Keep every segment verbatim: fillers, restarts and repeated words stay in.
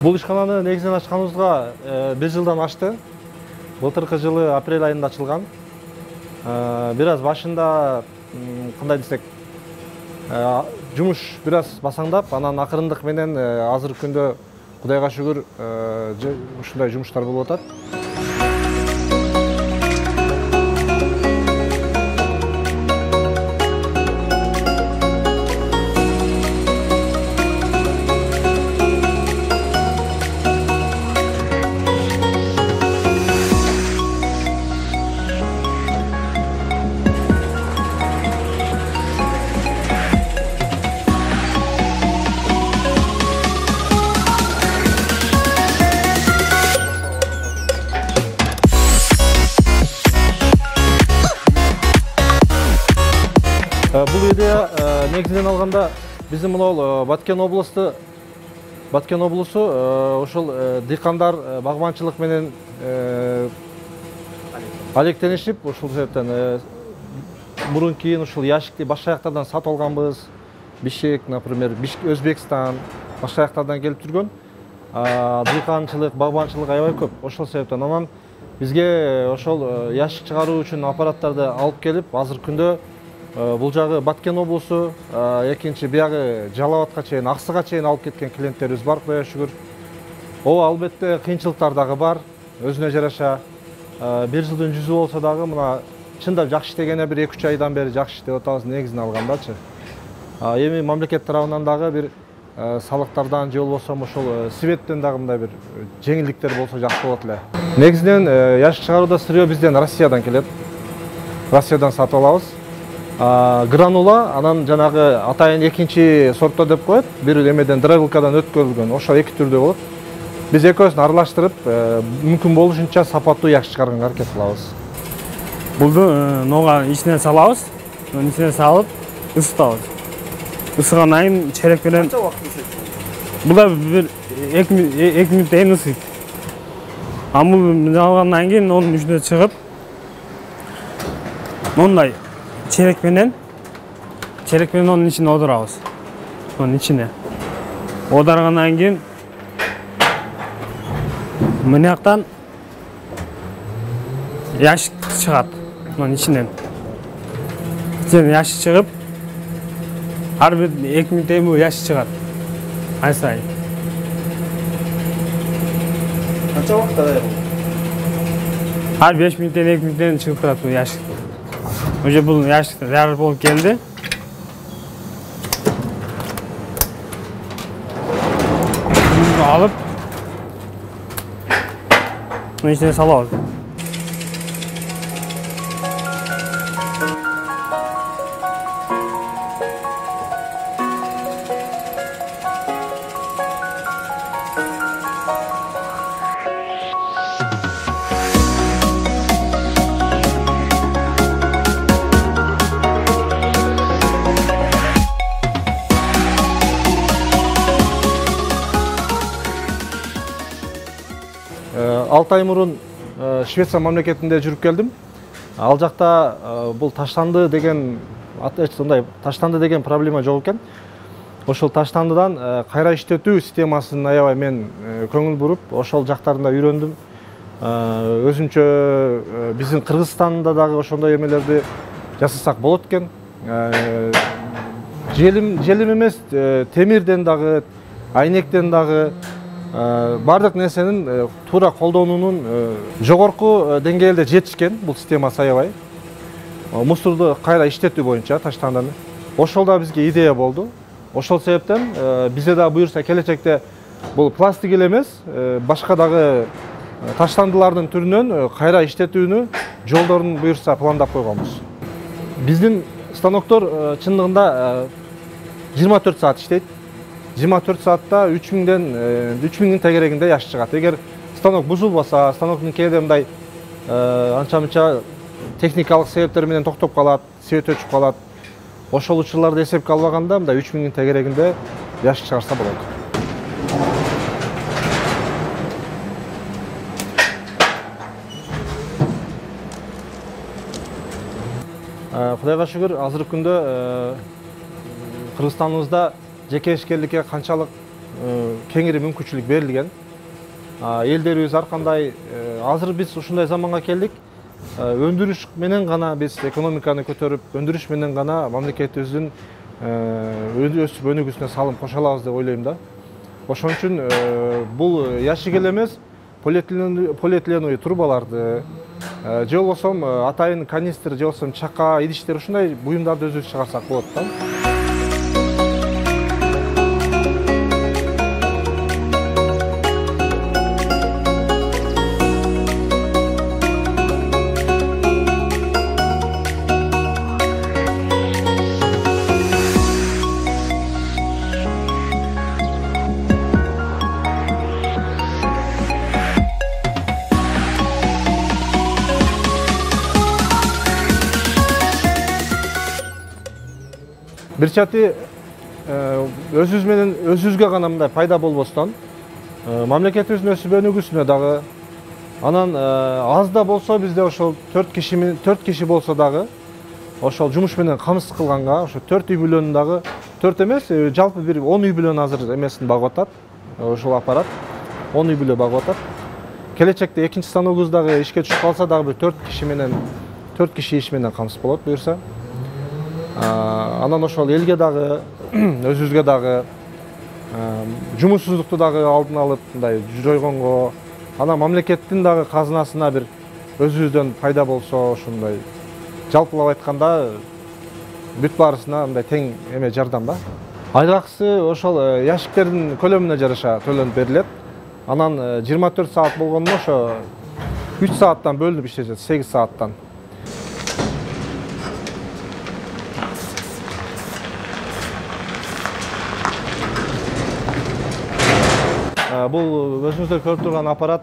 Бул ишкананы негизинен ачканыбызга бир жылдан ашты. Былтыркы жылы апрель айында ачылган. Бир аз башында кандай десек, жумуш бир аз басаңдап, анан акырындык менен азыркы күндө Кудайга шүгүр ушундай жумуштар болуп атат. Бул идея негизинен алганда биздин мынау Баткен областы, Баткен облусу ошол дыйкандар багбанчылык менен алектенишип, ошол себептен мурун кийин ушул яшикти башка жактардан сатып алганбыз. Бишкек, например, Өзбекстан, башка жактардан келип жүргөн. Дыйканчылык, багбанчылык аябай көп. Ошол себептен анан бизге ошол яшик чыгаруу үчүн аппараттарды алып келип, азыркы күндө бул жагы Баткен облусу, экинчи биягы Жалал Абадка чейин, Аксыга чейин алып кеткен клиенттерибиз бар, Кудайга шүгүр. Ооба, албетте кыйынчылыктар дагы бар, өзүнө жараша. Бир жылдын жүзү болсо дагы мына чындап жакшы иштегене бир эки үч айдан бери жакшы иштеп атабыз негизин алгандачы. Эми мамлекет тарабынан дагы бир салыктардан же болбосо ошол светтен дагы мындай бир жеңилдиктер болсо жакшы болот эле. Негизинен яшик чыгарууда сырьё бизден Россиядан келет. Россиядан сатып алабыз. Гранула, анан жанагы атайын экинчи сортто деп коет, бир эмеден драйвилкадан өткөрүлгөн, ошол эки түрдө болот. Биз экөөсүн аралаштырып, мүмкүн болушунча сапаттуу яшик чыгарганга аракет кылабыз. Булду нога ичине салабыз, ичине салып ысытабыз. Ысыгандан кийин черек менен канча убакыт ысытабыз? Бул да бир эки мүнөттөн ысыйт. Амул алгандан кийин онун үчүнө чыгып, мондай черек менен черек менен онун ичине одурабыз. Онун ичине оодаргандан кийин мынаяктан яшик чыгат. Онун ичинен ичинен яшик чыгып, ар бир эки мүнөттөн бул яшик чыгат. Ай сайын. Канча убакытта даяр болот? Ар беш мүнөттөн эки мүнөттөн чыгып турат бул яшик. Уже бул яшик даярдык болуп келди. Муну алып, мунун ичине салабыз. алты ай мурун Швеция мамлекетинде жүрүп келдим. Ал жакта бул таштанды деген сондай таштанды деген проблема жок экен. Ошол таштандыдан кайра иштетүү системасын аябай мен көңүл буруп, ошол жактарында үйрөндүм. Өзүнчө биздин Кыргызстанда дагы ошондой эмелерди жасасак болот экен. Желим желим эмес, темирден дагы, айнектен дагы бардык нерсенин туура колдонуунун жогорку деңгээлде жетишкен бул системасы аябай. Мусорду кайра иштетүү боюнча таштандыны. Ошол да бизге идея болду. Ошол себептен бизде да буюрса келечекте бул пластик эле эмес, башка дагы таштандылардын түрүнөн кайра иштетүүнү жолдорун буюрса пландап койгонбуз. Биздин станоктор чындыгында жыйырма төрт саат иштейт. жыйырма төрт саатта үч миңдин тегерегинде яшик чыгат. Эгер станок бузулбаса, станоктун кээде мындай анча-мынча техникалык себептер менен токтоп калат, свет өчүп калат. Ошол учурларды эсепке албаганда мындай үч миңдин тегерегинде яшик чыгарса болот. Кудайга шүгүр, азыркы күндө Кыргызстаныбызда жеке ишкерликке канчалык кеңири мүмкүнчүлүк берилген. Элдерибиз ар кандай азыр биз ушундай заманга келдик. Өндүрүш менен гана биз экономиканы көтөрүп, өндүрүш менен гана мамлекетибиздин өсүп өнүгүүсүнө салым кошо алабыз деп ойлойм да. Ошон үчүн бул ящик эле эмес, полиэтиленовый трубаларды же болбосо атайын канистр же болбосо чака, идиштер ушундай буюмдарды өзүбүз чыгарсак болот да. Бир чати өзүбүз менен өзүбүзгө гана мындай пайда болбостон, мамлекетибиздин өсүп өнүгүүсүнө дагы, анан аз да болсо бизде ошол төрт киши төрт киши болсо дагы ошол жумуш менен камсыз кылганга, ошо төрт үй бүлөнүн дагы төрт эмес, жалпы бир он үй бүлөнү азыр эмесин багып атат. Ошол аппарат он үй бүлө багып атат. Келечекте экинчи станогубуз дагы ишке түшүп калса дагы бир төрт киши менен төрт киши иш менен камсыз болот буюрса. Анан ошол элге дагы, өзүбүзгө дагы жумушсуздукту дагы алдын алып мындай жойгонго, анан мамлекеттин дагы казынасына бир өзүбүздөн пайда болсо, ошондой жалпылап айтканда бүт баарысына мындай тең эме жардам да. Айгакысы ошол ящиктердин көлөмүнө жараша төлөнүп берилет. Анан жыйырма төрт саат болгондо ошо үч сааттан бөлүнүп иштешет, сегиз сааттан. Бул өзүңүздөр көрүп турган аппарат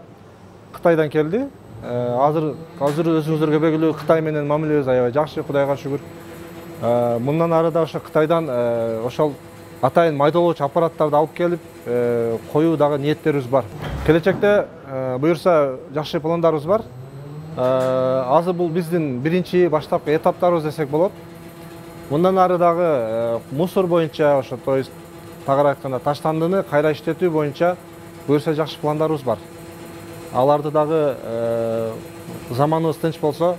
Кытайдан келди. Азыр азыр өзүңүздөргө белгилүү Кытай менен мамилебиз аябай жакшы, Кудайга шүгүр. Мындан ары да ошо Кытайдан ошол атайын майдалоочу аппараттарды алып келип коюу дагы ниеттерибиз бар. Келечекте буюрса жакшы пландарыбыз бар. Азыр бул биздин биринчи баштапкы этаптарыбыз десек болот. Мындан ары дагы мусор боюнча, ошо то есть тагыраак айтканда таштандыны кайра иштетүү боюнча буюрса жакшы пландарыбыз бар. Аларды дагы заманыбыз тынч болсо